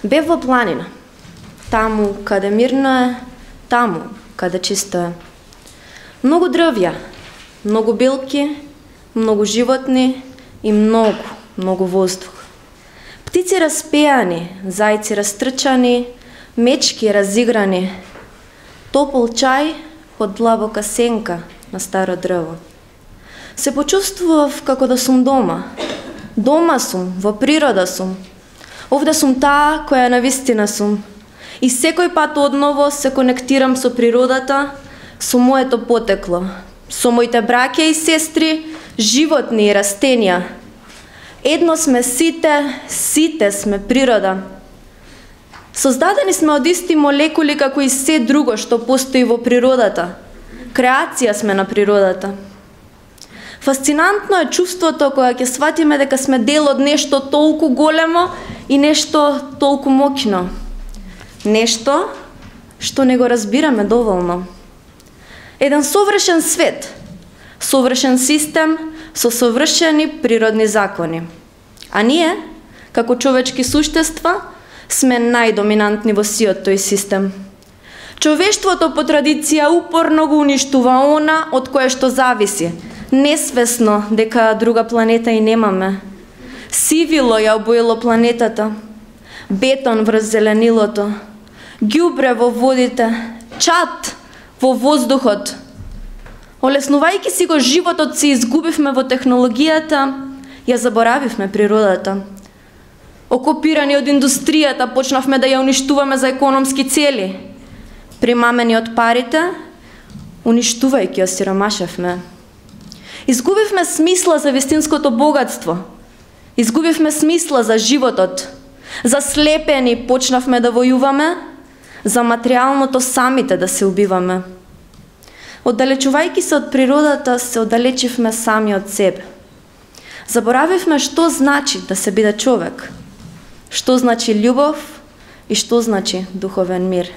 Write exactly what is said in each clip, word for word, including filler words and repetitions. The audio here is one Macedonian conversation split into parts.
Бев во планина, таму каде мирно е, таму каде чисто е. Многу дрвја, многу билки, многу животни и многу, многу воздух. Птици распеани, зајци растрчани, мечки разиграни, топол чај под длабока сенка на старо дрво. Се почувствував како да сум дома. Дома сум, во природа сум. Овде сум таа која навистина сум. И секој пат одново се конектирам со природата, со моето потекло, со моите браќа и сестри, животни и растенија. Едно сме сите, сите сме природа. Создадени сме од исти молекули како и се друго што постои во природата. Креација сме на природата. Фасцинантно е чувството кога ќе сватиме дека сме дел од нешто толку големо и нешто толку моќно. Нешто што не го разбираме доволно. Еден совршен свет, совршен систем со совршени природни закони. А ние, како човечки суштества, сме најдоминантни во сиот тој систем. Човештвото по традиција упорно го уништува она од кое што зависи, несвесно дека друга планета и немаме. Сивило ја обоило планетата, бетон врз зеленилото, ѓубре во водите, чад во воздухот. Олеснувајќи си го животот се изгубивме во технологијата, ја заборавивме природата. Окупирани од индустријата, почнавме да ја уништуваме за економски цели. Примамени од парите, уништувајќи ја сиромашевме. Изгубивме смисла за вистинското богатство. Изгубивме смисла за животот. Заслепени почнавме да војуваме, за материјалното самите да се убиваме. Оддалечувајќи се од природата, се оддалечивме сами од себе. Заборавивме што значи да се биде човек, што значи љубов и што значи духовен мир.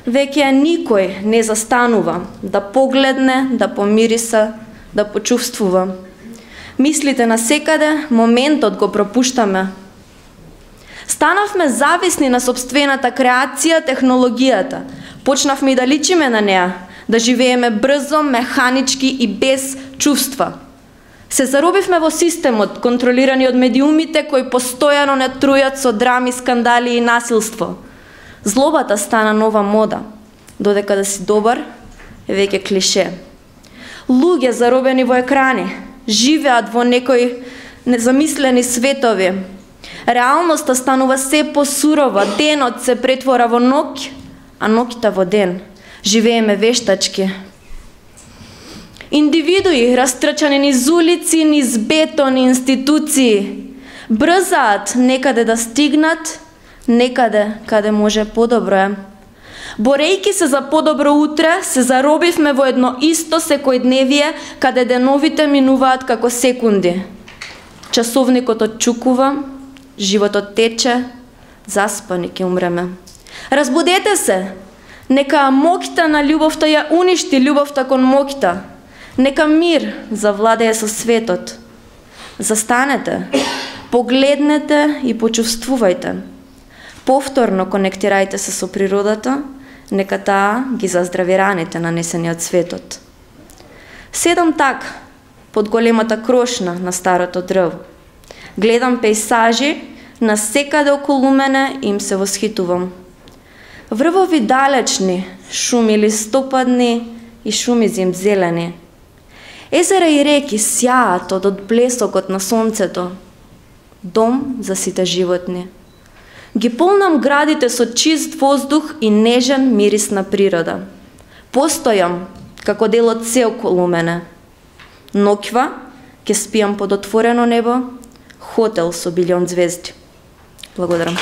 Веќе никој не застанува да погледне, да помириса, да почувствува. Мислите на секаде, моментот го пропуштаме. Станавме зависни на собствената креација, технологијата. Почнавме и да личиме на неа, да живееме брзо, механички и без чувства. Се заробивме во системот, контролирани од медиумите кои постојано не трујат со драми, скандали и насилство. Злобата стана нова мода, додека да си добар е веќе клише. Луѓе заробени во екрани, живеат во некои незамислени светови. Реалноста станува се посурова, денот се претвора во ноќ, а ноќта во ден. Живееме вештачки. Индивидуи растрчани низ улици, низ бетон институции, брзаат некаде да стигнат, некаде каде може подобро е. Борејќи се за подобро утре, се заробивме во едно исто секојдневие, каде деновите минуваат како секунди. Часовникот отчукува, животот тече, заспани ќе умреме. Разбудете се, нека моќта на љубовта ја уништи љубовта кон моќта. Нека мир завладее со светот. Застанете, погледнете и почувствувајте. Повторно конектирајте се со природата, нека таа ги заздрави раните нанесени од светот. Седам така, под големата крошна на старото дрво. Гледам пейсажи, на секаде околу мене им се восхитувам. Врвови далечни, шуми листопадни и шуми зимзелени. Езера и реки сјаат од одблесокот на сонцето. Дом за сите животни. Ги полнам градите со чист воздух и нежен мирис на природа. Постојам како дел од се околу мене. Ноќва ќе спијам под отворено небо, хотел со билион звезди. Благодарам.